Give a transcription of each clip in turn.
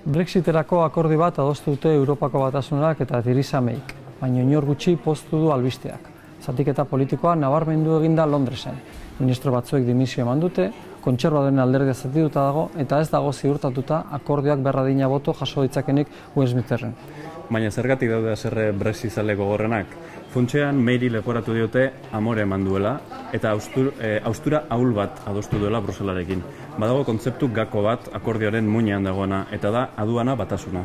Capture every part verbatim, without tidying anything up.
Brexiterako akordi bat adostu dute Europako Batasunak eta Theresa Mayk, baina inor gutxi poztu du albisteak. Zatiketa politikoa nabarmendu eginda Londresen. Ministro batzuek dimisio eman dute, kontserbadoren alderdia zatituta dago eta ez dago ziurtatuta akordioak berradina boto jaso ditzakenik Westminsteren. Baina zergatik daude haserre brexizale gogorrenak? Funtsean Mayri leporatu diote amore eman duela eta austur, e, austura ahul bat adostu duela Bruselarekin. Badago kontzeptu gako bat akordioaren muinean dagoena eta da aduana batasuna.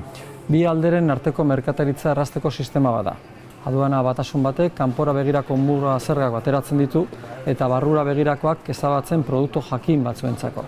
Bi alderen arteko merkataritza errazteko sistema bada. Aduana batasun batek kanpora begirako muga zergak bateratzen ditu eta barrura begirakoak ezabatzen produktu jakin batzuentzako.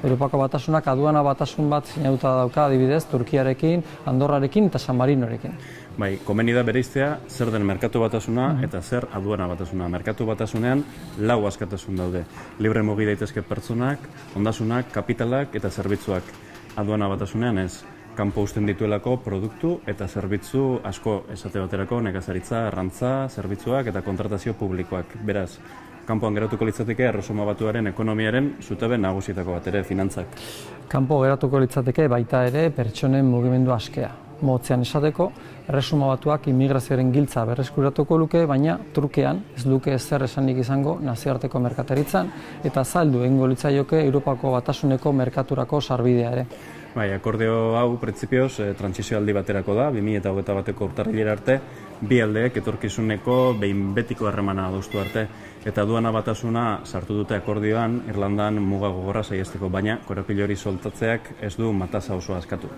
Europako Batasunak aduana batasun bat sinatuta dauka adibidez Turkiarekin, Andorrarekin eta San Marinorekin. Bai, komeni da bereiztea zer den merkatu batasuna eta zer aduana batasuna. Merkatu batasunean lau askatasun daude. Libre mugi daitezke pertsonak, ondasunak, kapitalak eta zerbitzuak. Aduana batasunean ez. Kanpo uzten dituelako produktu eta zerbitzu asko, esate baterako nekazaritza, arrantza, zerbitzuak eta kontratazio publikoak. Beraz, kanpoan geratuko litzateke Erresuma Batuaren ekonomiaren zutabe nagusietako bat ere, finantzak. Kanpo geratuko litzateke baita ere pertsonen mugimendu askea. Motzean esateko, Erresuma Batuak immigrazioaren giltza berreskuratuko luke, baina trukean ez luke ezer esanik izango nazioarteko merkataritzan eta zaldu egingo litzaioke Europako Batasuneko merkaturako sarbidea ere. Bai, akordio hau printzipioz e, trantsizio aldi baterako da, bi mila hogeita bateko urtarrilera arte, bi aldeek etorkizuneko behin betiko harremana adostu arte, eta aduana batasuna sartu dute akordioan Irlandan muga gogorra saihesteko, baina korapilo hori soltatzeak ez du matasa osoa askatu.